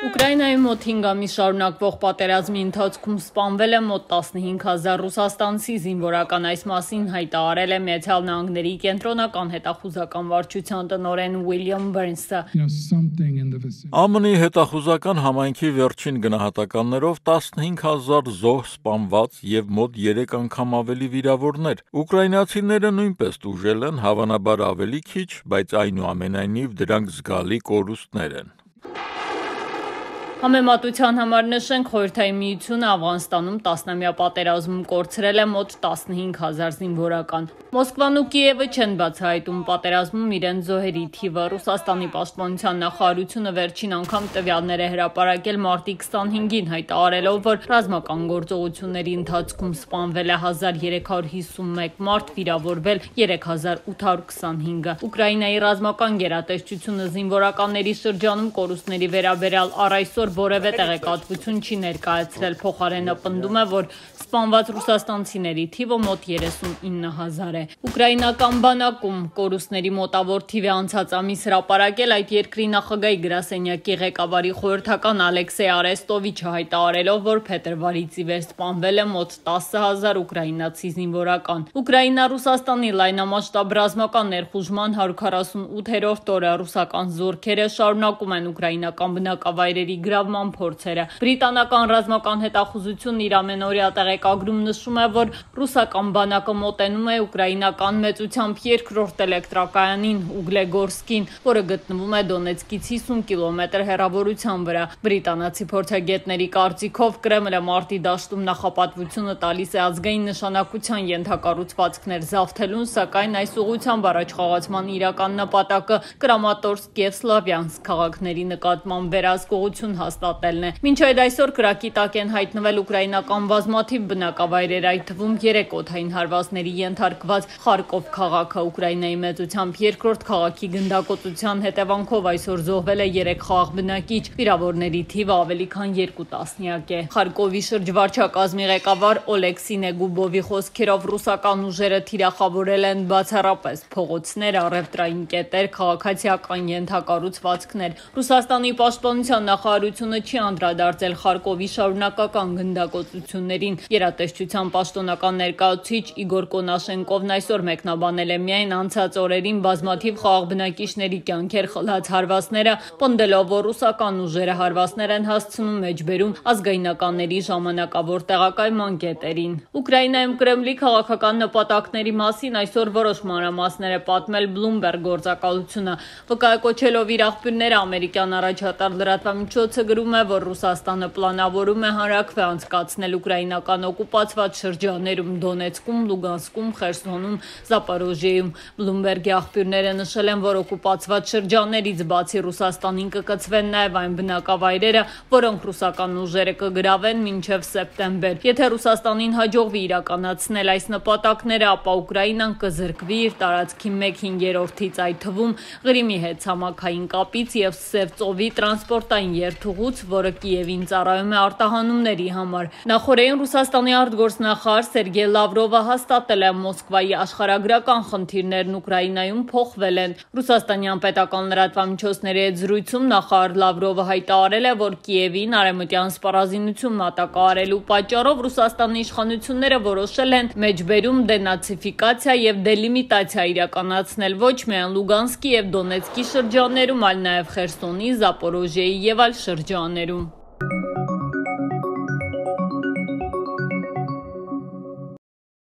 Ուկրաինայի մոտ 5 ամիս շարունակվող պատերազմի ընթացքում սպանվել է մոտ 15,000 ռուսաստանցի զինվորական, այս մասին հայտարարել է Միացյալ Նահանգների կենտրոնական հետախուզական վարչության տնօրեն Ուիլյամ Բըրնսը։ ԱՄՆ-ի հետախուզական համայնքի վերջին գնահատականներով 15,000 զոհ սպանված եւ մոտ 3 անգամ ավելի վիրավորներ։ Ուկրաինացիները նույնպես տուժել են, հավանաբար ավելի քիչ, բայց այնուամենայնիվ դրանք զգալի կորուստներ են։ Համեմատության համար նշենք, Խորհրդային Միությունը Աֆղանստանում տասնամյա պատերազմում կորցրել է մոտ 15,000 զինվորական։ Մոսկվան ու Կիևը չեն բացահայտում պատերազմում իրենց զոհերի թիվը։ Ռուսաստանի պաշտպանության նախարարությունը վերջին անգամ տվյալներ է հրապարակել մարտի 25-ին, հայտարարելով, որ ռազմական գործողությունների ընթացքում սպանվել է 1351 մարդ, վիրավորվել 3825-ը։ Ուկրաինայի ռազմական գերատեսչությունը զինվորականների շրջանում կորուստների վերաբերյալ առ այսօր որևէ տեղեկատվություն չի ներկայացրել, փոխարենը պնդում է, որ սպանված ռուսաստանցիների թիվը մոտ 39,000 է։ Ուկրաինական բանակում կորուստների մոտավոր թիվ է անցած ամիս հրապարակել այդ երկրի նախագահի գրասենյակի ղեկավարի խորհրդական Ալեքսեյ Արեստովիչը, հայտարարելով, որ փետրվարից ի վեր սպանվել է մոտ 10,000 ուկրաինացի զինվորական։ Ուկրաինա-Ռուսաստանի լայնամասշտաբ ռազմական ներխուժման 148-րդ օրը ռուսական զորքերը շարունակում են ուկրաինական բնակավայրերի գրավման փորձերը։ Բրիտանական ռազմական հետախուզությունն իր ամենօրյա տեղեկագրում նշում է, որ ռուսական բանակը մոտենում է ուկրաինական մեծությամբ երկրորդ էլեկտրակայանին Ուգլեգորսկին, որը գտնվում է Դոնեցկից 50 կիլոմետր հեռավորության վրա։ Բրիտանացի փորձագետների կարծիքով Կրեմլը մարտի դաշտում նախապատվությունը տալիս է ազգային նշանակության ենթակառուցվածքներ զավթելուն, սակայն այս ուղղությամբ առաջխաղացման իրական նպատակը Կրամատորսկ եւ Սլավյանսկ քաղաքների նկատմամբ վերահսկողություն հաստատելն է։ Մինչ այդ այսօր կրակի տակ են հայտնվել ուկրաինական բազմաթիվ բնակավայրեր, այդ թվում 3 օդային հարվածների ենթարկված Խարկով քաղաքը։ Ուկրաինայի մեծությամբ երկրորդ քաղաքի գնդակոծության հետևանքով այսօր զոհվել է 3 խաղաղ բնակիչ, վիրավորների թիվը ավելի քան 2 տասնյակ է։ Խարկովի շրջվարչակազմի ղեկավար Օլեքսի Նեգուբովի խոսքերով ռուսական ուժերը թիրախավորել են բացառապես փողոցներ, առևտրային կետեր, քաղաքացիական ենթակառուցվածքներ։ Ռուսաստանի պաշտպանության նախարարությունը չի անդրադարձել Խարկովի շարունակական գնդակոծություններին։ Գերատեսչության պաշտոնական ներկայացուցիչ Իգոր Կոնաշենկովն այսօր մեկնաբանել է միայն անցած օրերին բազմաթիվ խաղաղ բնակիչների կյանքեր խլած հարվածները, պնդելով, որ ռուսական ուժերը հարվածներ են հասցնում մեջբերում ազգայնականների ժամանակավոր տեղակայման կետերին։ Ուկրաինայում Կրեմլի քաղաքական նպատակների մասին այսօր որոշ մանրամասներ է պատմել Bloomberg գործակալությունը, վկայակոչելով իր աղբյուրները ամերիկյան առաջատար լրատվամիջոցը գրում է, որ Ռուսաստանը պլանավորում է հանրաքվե անցկացնել ուկրաինական օկուպացված շրջաններում Դոնեցկում, Լուգանսկում, Խերսոնում, Զապորոժիեում։ Bloomberg-ի աղբյուրները նշել են, որ օկուպացված շրջաններից բացի Ռուսաստանին կկցվեն նաև այն բնակավայրերը, որոնք ռուսական ուժերը կգրավեն մինչև սեպտեմբեր։ Եթե Ռուսաստանին հաջողվի իրականացնել այս նպատակները, ապա Ուկրաինան կզրկվի իր տարածքի 1/5-ից, այդ թվում Ղրիմի հետ ցամաքային կապից եւ Սև ծովի տրանսպորտային երթուղուց, որը Կիևին ծառայում է արտահանումների համար։ Նախորդին Ռուսաստանի արտգործնախարար Սերգեյ Լավրովը հաստատել է Մոսկվայի աշխարհագրական խնդիրներն Ուկրաինայում փոխվել են։ Ռուսաստանյան պետական լրատվամիջոցների հետ զրույցում նախարար Լավրովը հայտարարել է, որ Կիևին արևմտյան սպառազինություն մատակարարելու պատճառով Ռուսաստանի իշխանությունները որոշել են մեջբերում դենացիֆիկացիա եւ դելիմիտացիա իրականացնել ոչ միայն Լուգանսկի եւ Դոնեցկի շրջաններում, այլ նաեւ Խերսոնի, Զապորոժիեի եւ այլ շրջաններում։